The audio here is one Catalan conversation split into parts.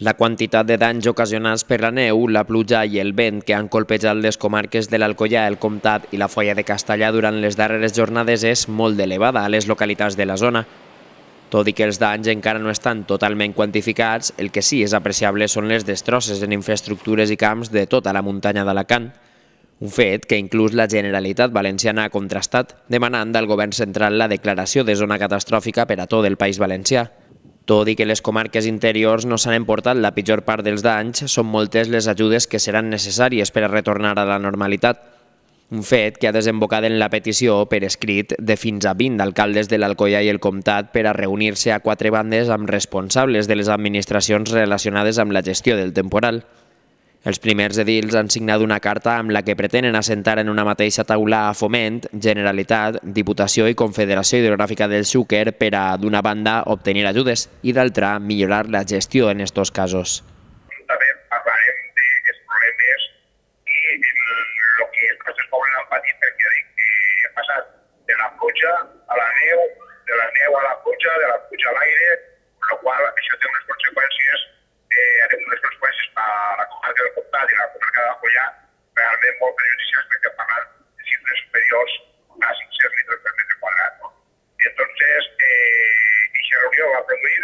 La quantitat de danys ocasionats per la neu, la pluja i el vent que han colpejat les comarques de l'Alcoià, el Comtat i la Foia de Castellar durant les darreres jornades és molt elevada a les localitats de la zona. Tot i que els danys encara no estan totalment quantificats, el que sí és apreciable són les destrosses en infraestructures i camps de tota la muntanya d'Alacant. Un fet que inclús la Generalitat Valenciana ha contrastat, demanant al govern central la declaració de zona catastròfica per a tot el País Valencià. Tot i que les comarques interiors no s'han emportat la pitjor part dels danys, són moltes les ajudes que seran necessàries per a retornar a la normalitat. Un fet que ha desembocat en la petició per escrit de fins a 20 alcaldes de l'Alcoià i el Comtat per a reunir-se a 4 bandes amb responsables de les administracions relacionades amb la gestió del temporal. Els primers edils han signat una carta amb la que pretenen assentar en una mateixa taula a Foment, Generalitat, Diputació i Confederació Hidrogràfica del Xúquer per a, d'una banda, obtenir ajudes i, d'altra, millorar la gestió en aquests casos. També parlarem dels problemes i el que els nostres pobles han patit, perquè hem passat de la pluja a la neu, de la neu a la pluja, de la pluja a l'aire, amb la qual això té unes conseqüències a la comarca del Comtat i la comarca de l'Alcoià realment molt perjudicials, perquè parlant de xifres superiors a 500 litres per metre quadrat. Entonces, aquesta reunió va produir,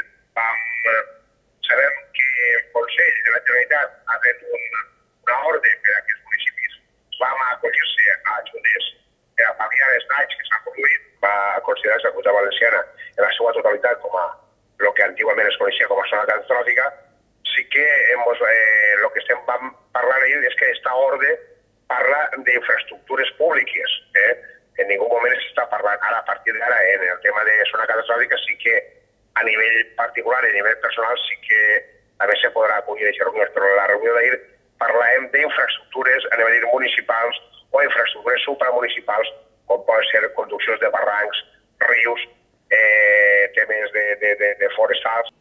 sabem que el Consell de la Generalitat ha fet una ordre per a aquests municipis, vam acollir-se a ajudes per a pal·liar els danys que s'han produït, va considerar-se la Comunitat Valenciana en la seva totalitat com a el que antigament es coneixia com a zona catastròfica. Sí que el que estem parlant ahir és que aquesta ordre parla d'infraestructures públiques. En ningú moment s'està parlant ara, a partir d'ara, en el tema de zona catastròfica, sí que a nivell particular i a nivell personal sí que també se podrà acollir aquesta reunió, però la reunió d'ahir parlàvem d'infraestructures a nivell municipals o infraestructures supramunicipals, com poden ser conduccions de barrancs, rius, temes de forestals.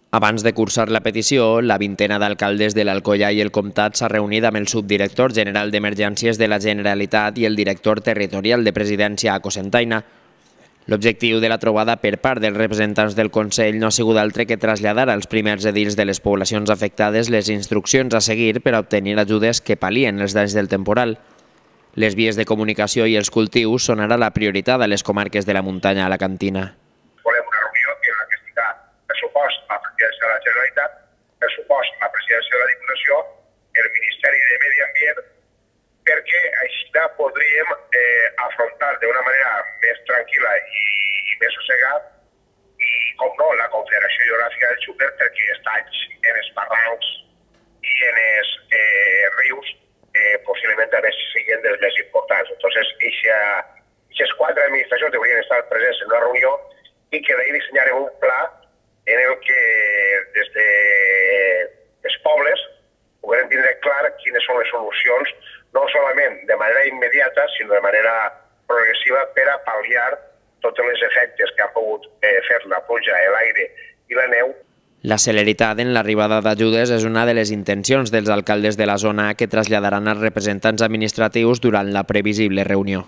Abans de cursar la petició, la vintena d'alcaldes de l'Alcoià i el Comtat s'ha reunit amb el subdirector general d'Emergències de la Generalitat i el director territorial de Presidència a Cocentaina. L'objectiu de la trobada per part dels representants del Consell no ha sigut altre que traslladar als primers edils de les poblacions afectades les instruccions a seguir per a obtenir ajudes que pal·lien els danys del temporal. Les vies de comunicació i els cultius són ara la prioritat a les comarques de la muntanya alacantina. Volem una reunió en la que estigui pressupost la Presidència de la Generalitat, pressupost la Presidència de la Diputació, el Ministeri de Medi Ambient, perquè així podríem afrontar d'una manera més tranquil·la i més sossegada i, com no, la Confederació Hidrogràfica del Xúquer, perquè els danys en els barrancs i en els rius possiblement també siguin dels més importants. Entonces, aquestes 4 administracions haurien estar presents en una reunió i que d'ahir dissenyarem un pla en el que des dels pobles puguem tindre clar quines són les solucions, no solament de manera immediata, sinó de manera progressiva per a pal·liar tots els efectes que ha pogut fer la pluja, l'aire i la neu. La celeritat en l'arribada d'ajudes és una de les intencions dels alcaldes de la zona que traslladaran als representants administratius durant la previsible reunió.